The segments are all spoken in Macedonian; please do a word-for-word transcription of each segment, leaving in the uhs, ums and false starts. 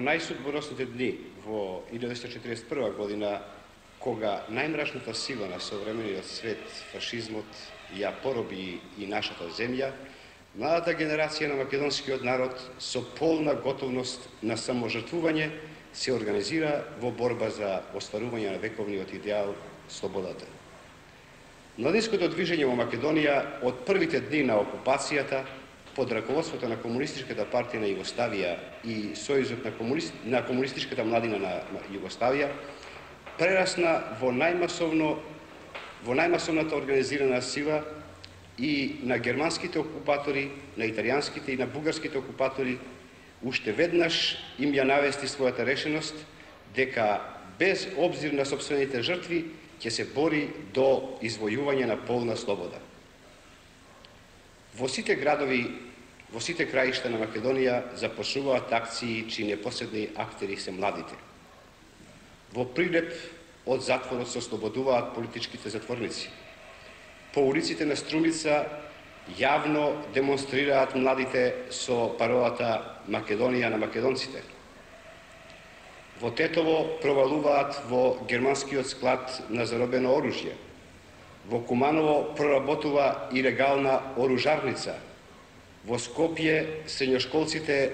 најсудбоносните дни во илјада деветстотини четиридесет и прва година, кога најмрачната сила на современиот свет, фашизмот, ја пороби и нашата земја, младата генерација на македонскиот народ со полна готовност на саможртвување се организира во борба за остварување на вековниот идеал слободата. Младинското движење во Македонија од првите дни на окупацијата под раководството на Комунистичката партија на Југославија и Сојузот на, комунист... на комунистичката младина на Југославија прерасна во најмасовно во најмасовната организирана сила и на германските окупатори, на италијанските и на бугарските окупатори уште веднаш им ја навести својата решеност дека без обзир на сопствените жртви ќе се бори до извојување на полна слобода. Во сите градови, во сите краишта на Македонија започнуваат акции чии непосредни актери се младите. Во Прилеп од затворот се ослободуваат политичките затворници. По улиците на Струмица јавно демонстрираат младите со паролата Македонија на македонците. Во Тетово провалуваат во германскиот склад на заробено оружје. Во Куманово проработува илегална оружарница. Во Скопје средњошколците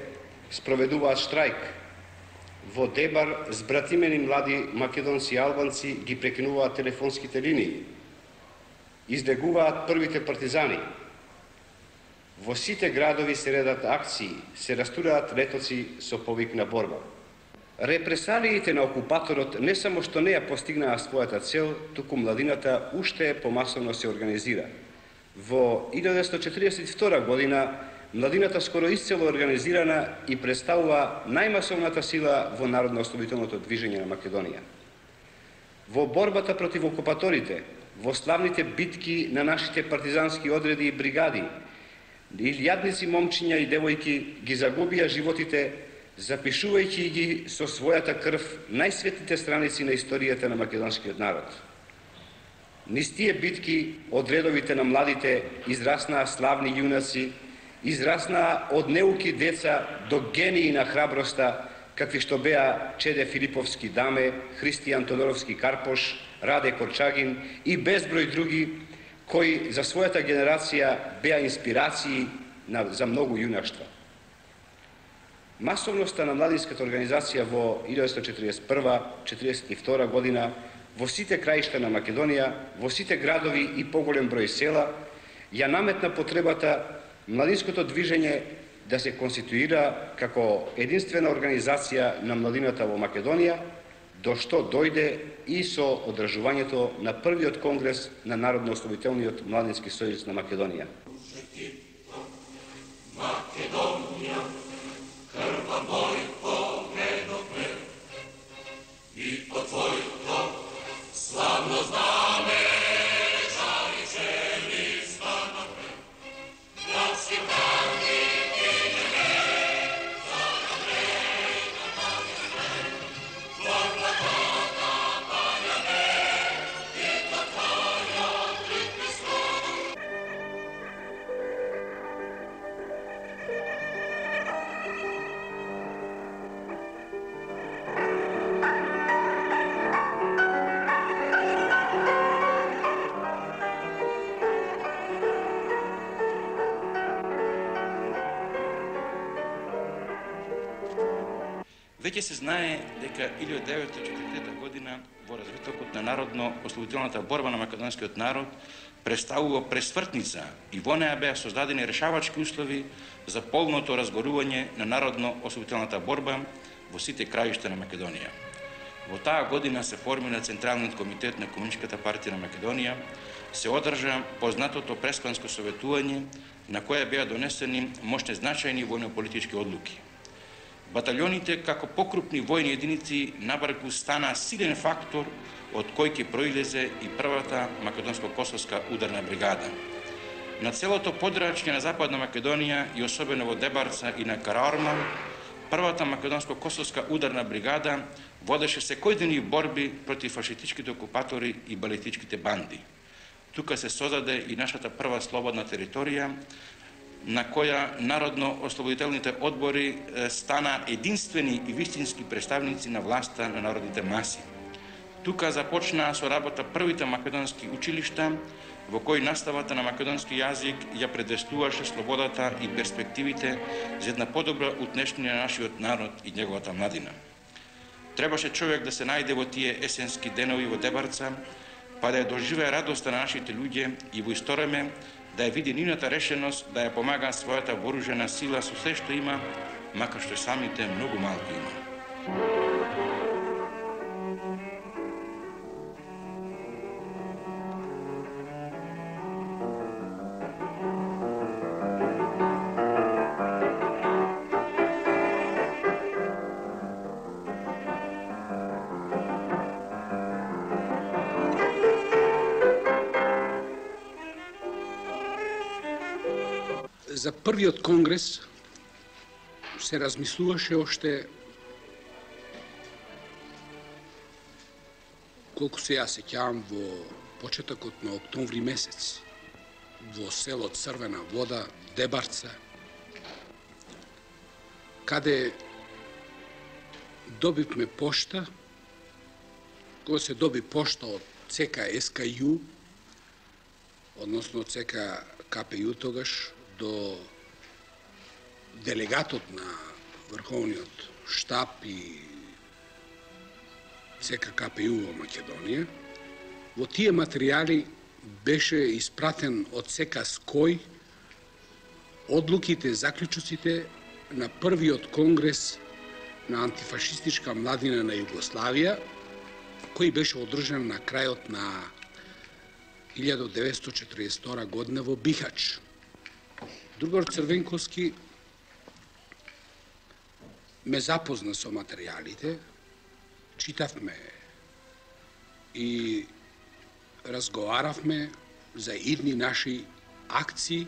спроведуваат штрајк. Во Дебар збратимени млади македонци и албанци ги прекинуваат телефонските линии. Излегуваат првите партизани. Во сите градови се редат акции, се растураат летоци со повик на борба. Репресалиите на окупаторот не само што не ја постигнаа својата цел, туку младината уште помасовно се организира. Во илјада деветстотини четиридесет и втора година младината скоро исцело организирана и представува најмасовната сила во народно-ослободителното движење на Македонија. Во борбата против окупаторите, во славните битки на нашите партизански одреди и бригади, илјадници момчиња и девојки ги загубија животите, запишувајќи ги со својата крв најсветлите страници на историјата на македонскиот народ. Низ тие битки од редовите на младите израснаа славни јунаци, израснаа од неуки деца до гении на храброста, какви што беа Чеде Филиповски Даме, Христијан Тодоровски Карпош, Раде Корчагин и безброј други, кои за својата генерација беа инспирации за многу јунаштва. Масовноста на младинската организација во илјада деветстотини четиридесет и прва до четиридесет и втора година во сите краишта на Македонија, во сите градови и поголем број села, ја наметна потребата младинското движење да се конституира како единствена организација на младината во Македонија, до што дојде и со одржувањето на првиот конгрес на Народно-ослободителниот младински сојуз на Македонија. Македонија, крва мојко предопре, и по твојко славно знаме, жари жели станапре, јаси брани кинеме, загадре на панјаме, твојка тока панјаме, и то твојот приписко. Веќе се знае дека илјада деветстотини и четиридесета година во развитокот на народно-ослободителната борба на македонскиот народ представува пресвртница и во неа беа создадени решавачки услови за полното разгорување на народно-ослободителната борба во сите краишта на Македонија. Во таа година се формира Централниот комитет на Комунистичката партија на Македонија, се одржа познатото преспанско советување на кое беа донесени мощни значајни војно-политички одлуки. Баталионите како покрупни војни единици набрзо стана силен фактор од кој ќе проилезе и првата македонско-косовска ударна бригада. На целото подрачје на Западна Македонија и особено во Дебарца и на Караорман, првата македонско-косовска ударна бригада водеше секојдневни борби против фашистичките окупатори и балетичките банди. Тука се создаде и нашата прва слободна територија, на која народно-ослободителните одбори стана единствени и вистински представници на власта на народните маси. Тука започнаа со работа првите македонски училишта, во кои наставата на македонски јазик ја предвестуваше слободата и перспективите за една подобра утнешнина на нашиот народ и неговата младина. Требаше човек да се најде во тие есенски денови во Дебарца, па да ја доживее радоста на нашите луѓе и во исто време да ја види нивната решеност да ја помага својата вооружена сила со се што има, макар што самите многу малку има. За првиот конгрес се размислуваше оште, колку се ја сеќавам, во почетокот на октомври месец, во село Црвена вода, Дебарца, каде добивме пошта, кога се доби пошта од ЦК СКЮ, односно ЦК КПЮ тогаш, до делегатот на Врховниот штаб и ЦК КПЮ во Македонија. Во тие материјали беше испратен од ЦК СКОј одлуките, заклучоците на првиот конгрес на антифашистичка младина на Југославија, кој беше одржан на крајот на илјада деветстотини четиридесет и втора година во Бихач. Другор Црвенковски ме запозна со материјалите, читавме и разговаравме за идни наши акции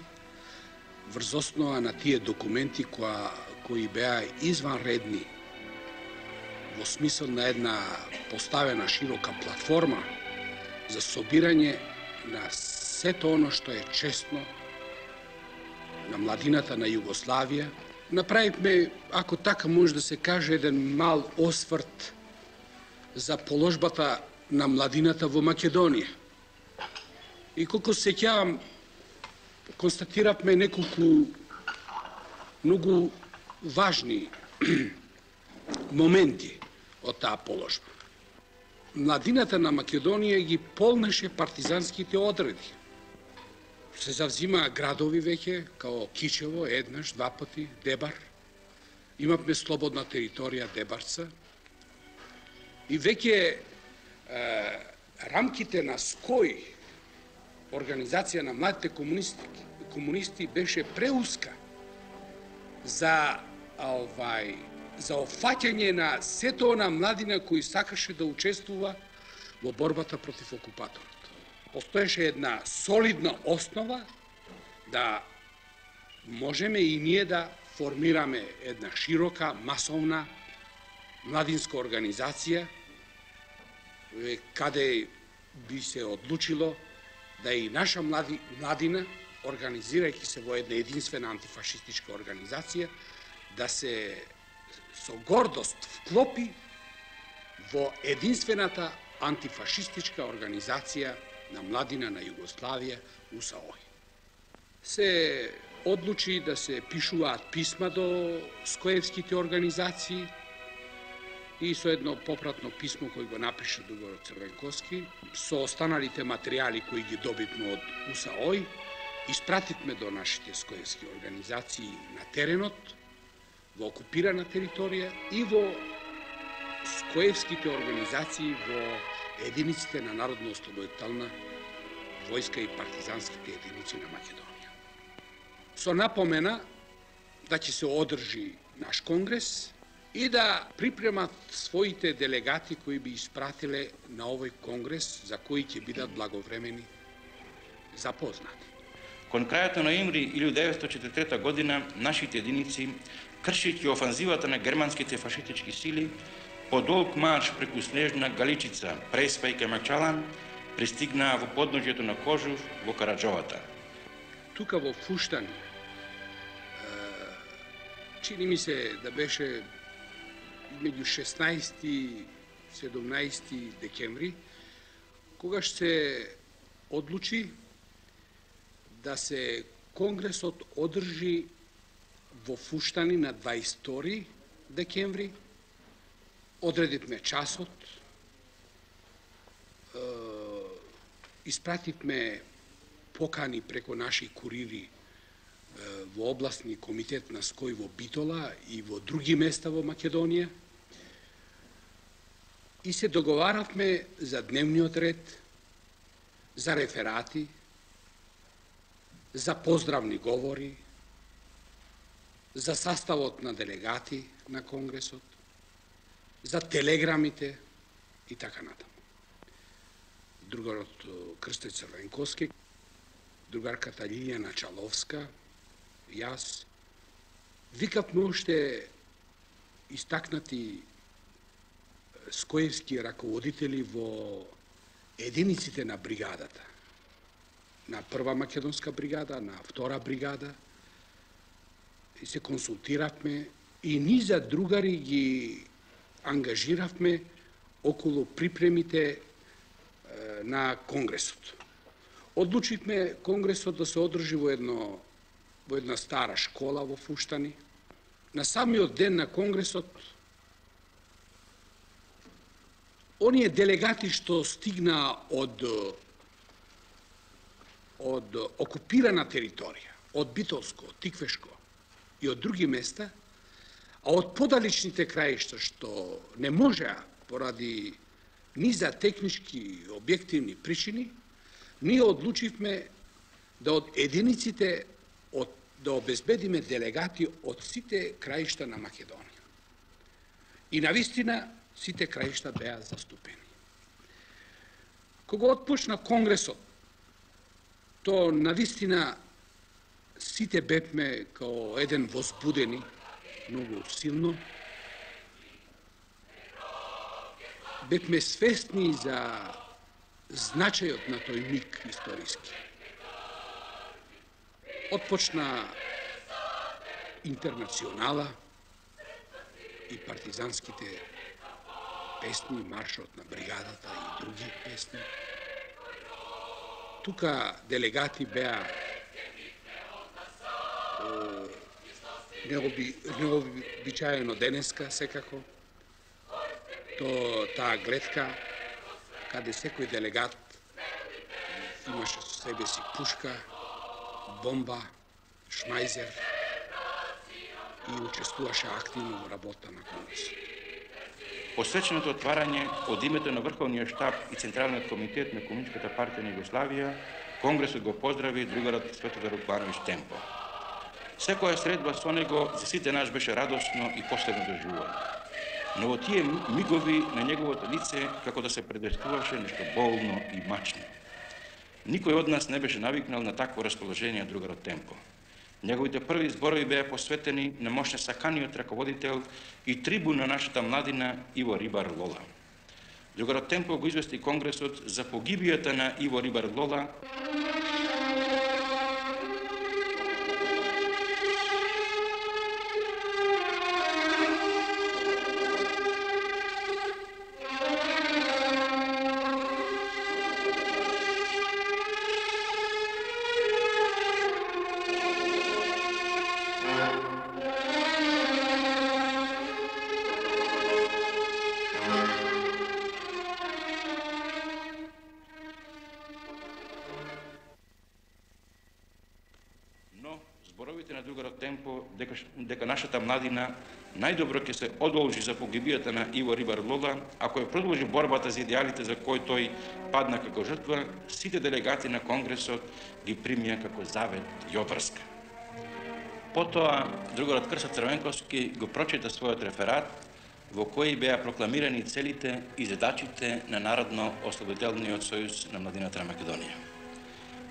врз основа на тие документи кои, кои беа изванредни во смисол на една поставена широка платформа за собирање на сето оно што е честно на младината на Југославија. Направивме, ако така може да се каже, еден мал осврт за положбата на младината во Македонија. И колку се сеќавам, констатиравме неколку многу важни моменти од таа положба. Младината на Македонија ги полнеше партизанските одреди. Се завзимаа градови веќе, као Кичево, еднаш, два пати, Дебар. Имавме слободна територија Дебарца. И веќе е, рамките на СКОј, Организација на младите комунисти, комунисти беше преуска за, овај, за офаќање на сето она младина кои сакаше да учествува во борбата против окупаторот. Постоеше една солидна основа да можеме и ние да формираме една широка, масовна младинска организација, каде би се одлучило да и наша млади, младина, организирајќи се во една единствена антифашистичка организација, да се со гордост вклопи во единствената антифашистичка организација на младина на Југославија, УСАОЙ. Се одлучи да се пишуваат писма до скоевските организации и со едно попратно писмо кој го напише Дугор Црвенковски, со останалите материјали кои ги добивме од УСАОЙ, испративме до нашите скоевски организации на теренот, во окупирана територија и во скоевските организации во единиците на Народно-ослободителна војска и партизанските единици на Македонија. Со напомена да ќе се одржи наш конгрес и да припремат своите делегати кои би испратиле на овој конгрес, за кои ќе бидат благовремени запознати. Кон крајот на ноември илјада деветстотини четиридесет и трета година, нашите единици, кршејќи офанзивата на германските фашистички сили, по долг марш преку снежна Галичица, Преспа и Камакчалан, пристигнаа во подножјето на Кожув во Караџовата. Тука во Фуштани чини ми се да беше меѓу шеснаесети и седумнаесети декември, когаш се одлучи да се Конгресот одржи во Фуштани на дваесет и втори декември. Одредивме часот, испративме покани преко наши курири во областни комитет на СКОИ во Битола и во други места во Македонија и се договаравме за дневниот ред, за реферати, за поздравни говори, за sastavот на делегати на Конгресот, за телеграмите и така натаму. Другарот Крстеј Црвенковски, другарката Лилијана Чаловска, јас, викавме уште истакнати скоевски раководители во единиците на бригадата. На прва македонска бригада, на втора бригада, и се консултиравме и низа другари ги ангажиравме околу припремите на Конгресот. Одлучивме Конгресот да се одржи во едно во една стара школа во Фуштани. На самиот ден на Конгресот, оние делегати што стигнаа од од окупирана територија, од Битолско, од Тиквешко и од други места, а од подалечните краишта што не можеа поради низа технички и објективни причини, ние одлучивме да од единиците од, да обезбедиме делегати од сите краишта на Македонија. И навистина сите краишта беа заступени. Кога отпочна Конгресот, то навистина сите бевме као еден возбудени, многу силно. Бевме свесни за значајот на тој миг историски. Отпочна Интернационала и партизанските песни, маршот на бригадата и други песни. Тука делегати беа необичаено денеска секако. То таа гледка каде секој делегат имаше со себе си пушка, бомба, шмајзер и учествуваше активно во работа на Конгресот. Посвеченото отварање од името на Врховниот штаб и Централниот комитет на Комунистичката партија на Југославија, Конгресот го поздрави другарот Светозар Уквановиќ Темпо. Секоја средба со него за сите нас беше радосно и последно доживување. Но во тие мигови на неговото лице како да се предвестуваше нешто болно и мачно. Никој од нас не беше навикнал на такво расположение од другарот Темпо. Неговите први зборови беа посветени на мощно саканиот раководител и трибун на нашата младина Иво Рибар Лола. Другарот Темпо го извести Конгресот за погибијата на Иво Рибар Лола, зборовите на другарот Темпо дека, дека нашата младина најдобро ќе се одолжи за погибијата на Иво Рибар Лола, ако ја продолжи борбата за идеалите за кои тој падна како жртва, сите делегати на Конгресот ги примија како завет и обврска. Потоа, другарот Крстеј Црвенковски го прочита својот реферат, во кој беа прокламирани целите и задачите на Народно-ослободителниот сојуз на младината на Македонија.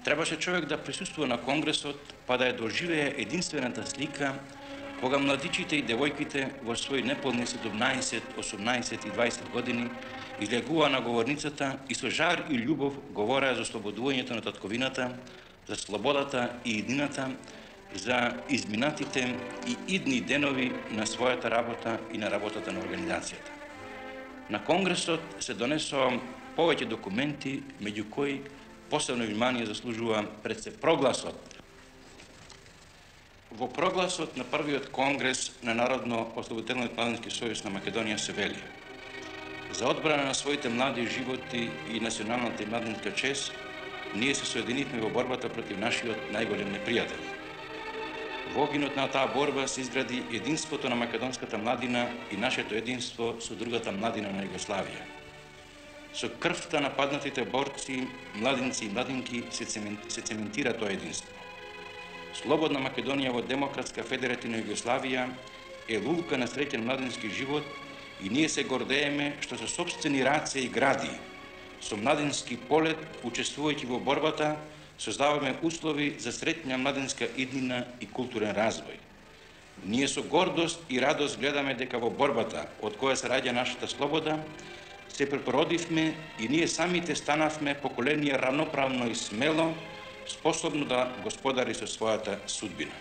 Требаше човек да присуствува на Конгресот, па да ја доживее единствената слика кога младичите и девојките во своји неполни седумнаесет, осумнаесет и дваесет години излегуваа на говорницата и со жар и љубов говореа за ослободувањето на татковината, за слободата и едината, за изминатите и идни денови на својата работа и на работата на организацијата. На Конгресот се донесоа повеќе документи, меѓу кои посебно внимание заслужува пред се прогласот. Во прогласот на првиот Конгрес на Народно-ослободителниот младински сојуз на Македонија се вели: за одбрана на своите млади животи и националната и младинска чест, ние се соединивме во борбата против нашиот најголем непријател. Во огинот на таа борба се изгради единството на македонската младина и нашето единство со другата младина на Југославија. Со крвта на паднатите борци, младинци и младинки се, се цементира тоа единство. Слободна Македонија во демократска федеративна Југославија е лулка на среќен младински живот и ние се гордееме што со сопствени раце и гради, со младински полет, учествувајќи во борбата, создаваме услови за среќна младинска иднина и културен развој. Ние со гордост и радост гледаме дека во борбата, од која се раѓа нашата слобода, се препородивме и ние самите станавме поколение равноправно и смело, способно да господари со својата судбина.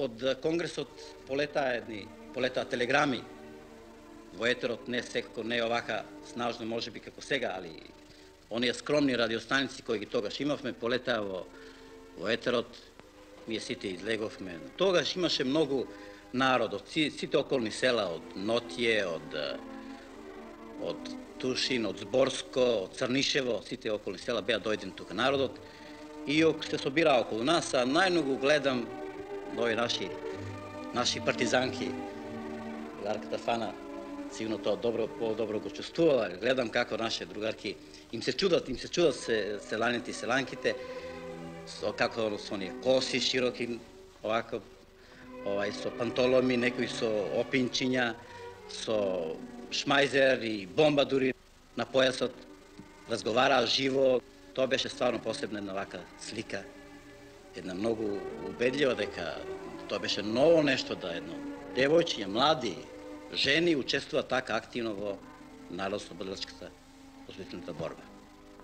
Од Конгресот полетаа едни, полетаа телеграми во етерот, не секако, не овака снажно можеби како сега, али оние скромни радиостаници кои ги тогаш имавме, полетаа во, во етерот, ние сите излеговме. Тогаш имаше многу народ, од сите околни села, од Нотје, од, од Тушин, од Зборско, од Црнишево, сите околни села беа дојдени тука народот и се собира околу нас, а најмногу гледам нови наши, наши партизанки. Другарката Фана сигурно тоа добро, по-добро го чувствувала. Гледам како наши другарки им се чудат, им се чудат се, селаните и селанките, со како со оние коси широки, овако, овај со пантоломи, некои со опинчиња, со шмајзер и бомба дури на појасот, разговараа живо. Тоа беше стварно посебна една вака слика, една многу убедлива дека тоа беше ново нешто, да едно девојчиња, млади, жени учествуваат така активно во народно-ослободителската освободителната борба.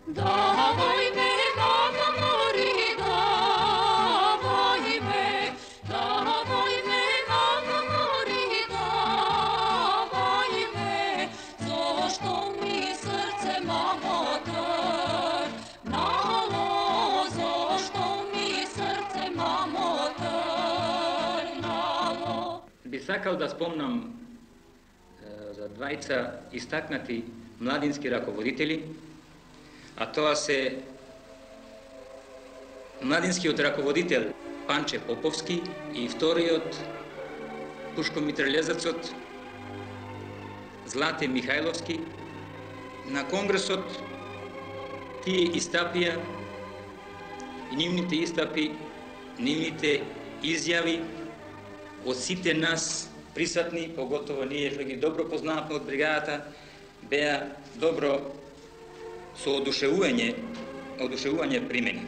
Давај ме, мамо, мори, давај ме, давај ме, мамо, мори, давај ме, зошто ми срце, мамо, трнало, зошто ми срце, мамо, трнало. Би сакал да спомнам за двајца истакнати младински раководители, а тоа се младинскиот раководител Панче Поповски и вториот пушкомитралезецот Злате Михајловски. На Конгресот тие истапија и нивните истапи, нивните изјави од сите нас присутни, поготово ние што ги добро познаваме од бригадата, беа добро со одушевување, одушевување примени.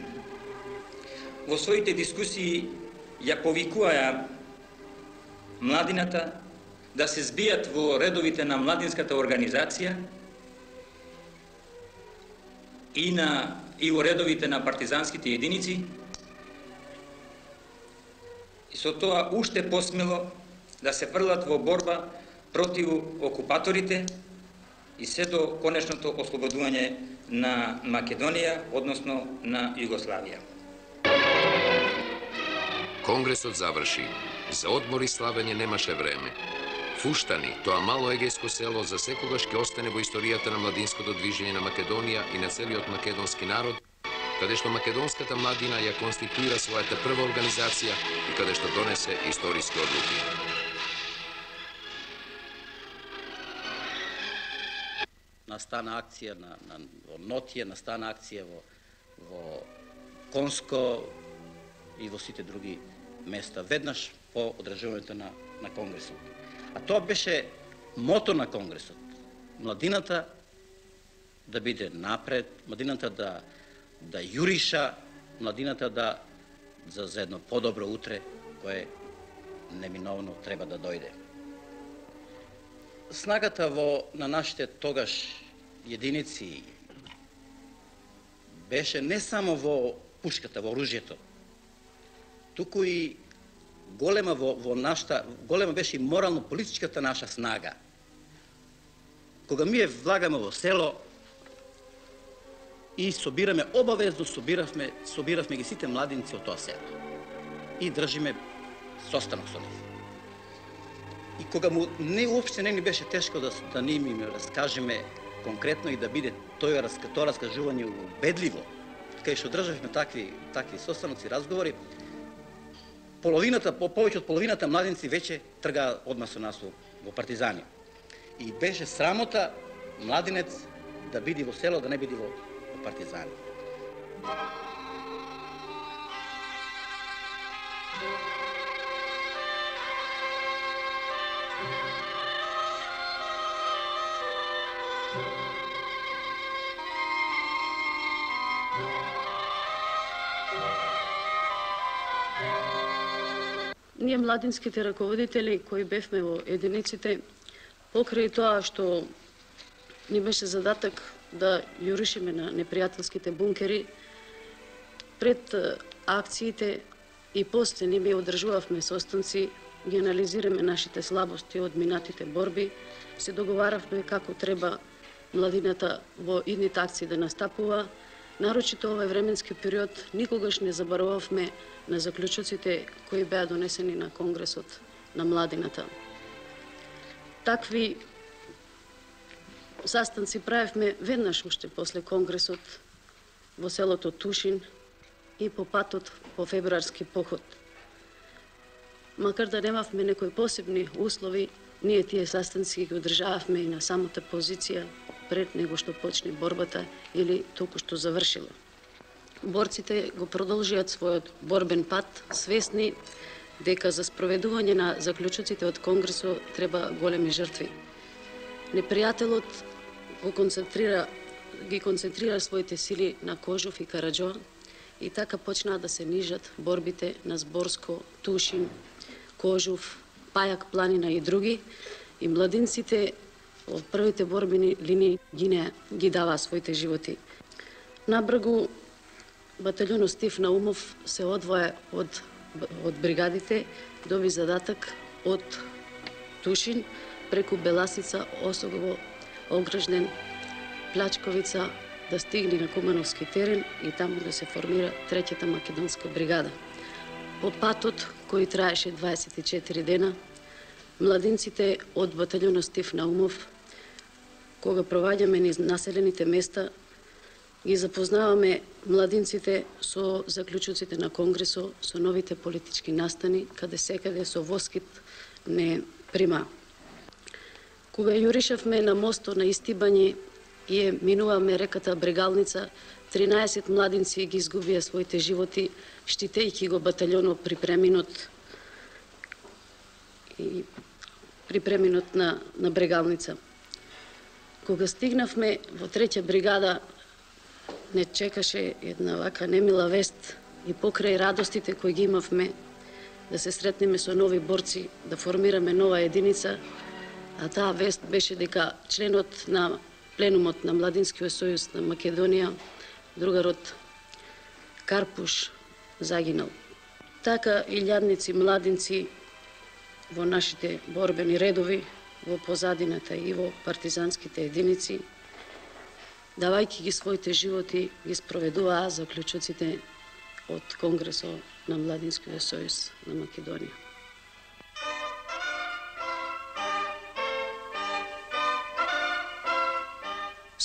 Во своите дискусии ја повикуваја младината да се збијат во редовите на младинската организација и на и во редовите на партизанските единици, и со тоа уште посмело да се фрлат во борба против окупаторите и се до конечното ослободување на Македонија, односно на Југославија. Конгресот заврши. За одмор и славење немаше време. Фуштани, тоа мало егејско село, за секогаш ќе остане во историјата на младинското движење на Македонија и на целиот македонски народ, каде што македонската младина ја конституира својата прва организација и каде што донесе историски одлуки. Настана акција на, на во Нотје, настана акција во, во Конско и во сите други места, веднаш по одржувањето на, на Конгресот. А тоа беше мотор на Конгресот. Младината да биде напред, младината да, да јуриша, младината да за, за едно подобро утре, кое неминовно треба да дојде. Снагата во, на нашите тогаш единици беше не само во пушката, во оружјето, туку и голема во, во нашата, голема беше и морално-политичката наша снага. Кога ние влагаме во село и собираме, обавезно собиравме, собиравме ги сите младинци од тоа село и држиме состанок со нив. И кога му не уопште не ни беше тешко да, да ни им раскажеме конкретно и да биде тој тоа раскажување убедливо, кај што државме такви такви состаноци, разговори, половината, по повеќе од половината младинци веќе тргаа одма со нас во партизани. И беше срамота младинец да биде во село, да не биде во, во партизани. Ние младинските раководители кои бевме во единиците, покрај тоа што ни беше задаток да јуришиме на непријателските бункери, пред акциите и после ние одржувавме состанци, ги анализираме нашите слабости од минатите борби, се договаравме како треба младината во идните акции да настапува. Нарочито овој временски период никогаш не заборававме на заклучоците кои беа донесени на Конгресот на младината. Такви sastanci правевме веднаш уште после Конгресот во селото Тушин и по патот по февруарски поход. Макар да немавме некои посебни услови, ние тие sastanci ги одржававме и на самата позиција пред него што почне борбата или толку што завршила. Борците го продолжиат својот борбен пат, свесни дека за спроведување на заклучоците од Конгресот треба големи жртви. Непријателот го концентрира, ги концентрира своите сили на Кожув и Караџо и така почнаа да се нижат борбите на Зборско, Тушин, Кожув, Пајак планина и други, и младинците од првите борбени линии ги, не, ги даваа своите животи. Набргу баталјонот Стив Наумов се одвоја од, од бригадите, доби задаток од Тушин преку Беласица, Осогово, Огражден, Плачковица да стигне на Кумановски терен и таму да се формира третата македонска бригада. По патот, кој траеше дваесет и четири дена, младинците од баталјонот Стив Наумов, кога проваѓаме низ населените места, ги запознаваме младинците со заклучоците на Конгресот, со новите политички настани, каде секаде со воскит не прима. Кога јуришавме на мостот на Истибање и е минуваме реката Брегалница, тринаесет младинци ги изгубија своите животи, штитејќи го баталјонот при преминот и при преминот на, на Брегалница. Кога стигнавме во трета бригада, не чекаше една вака немила вест и покрај радостите кои ги имавме да се сретнеме со нови борци, да формираме нова единица, а таа вест беше дека членот на пленумот на Младинскиот сојуз на Македонија, другарот Карпуш, загинал. Така илјадници младинци во нашите борбени редови, во позадината и во партизанските единици, давајќи ги своите животи, ги спроведуваа заклучоците од Конгресот на Младинскиот сојуз на Македонија.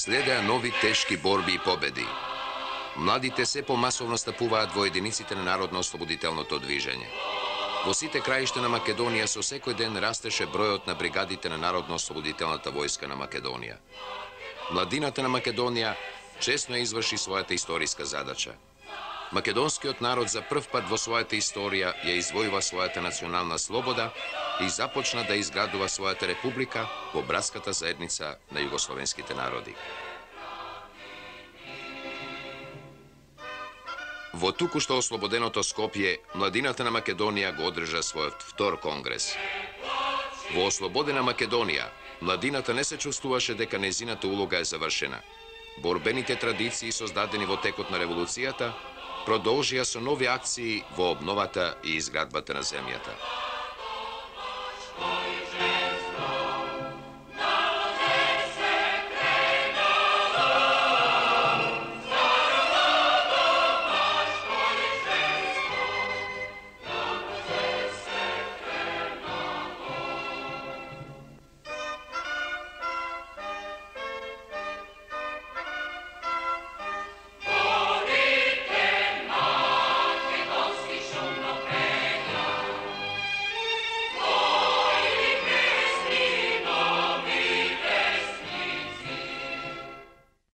Следеа нови тешки борби и победи. Младите се помасовно стапуваат во единиците на Народно-ослободителното движење. Во сите краишта на Македонија со секој ден растеше бројот на бригадите на Народно-ослободителната војска на Македонија. Младината на Македонија честно изврши својата историска задача. Македонскиот народ за прв пат во својата историја ја извојува својата национална слобода и започна да изградува својата република во братската заедница на југословенските народи. Во туку-што ослободеното Скопје, младината на Македонија го одржа својот втор конгрес. Во ослободена Македонија, младината не се чувствуваше дека незината улога е завршена. Борбените традиции создадени во текот на револуцијата продолжија со нови акции во обновата и изградбата на земјата.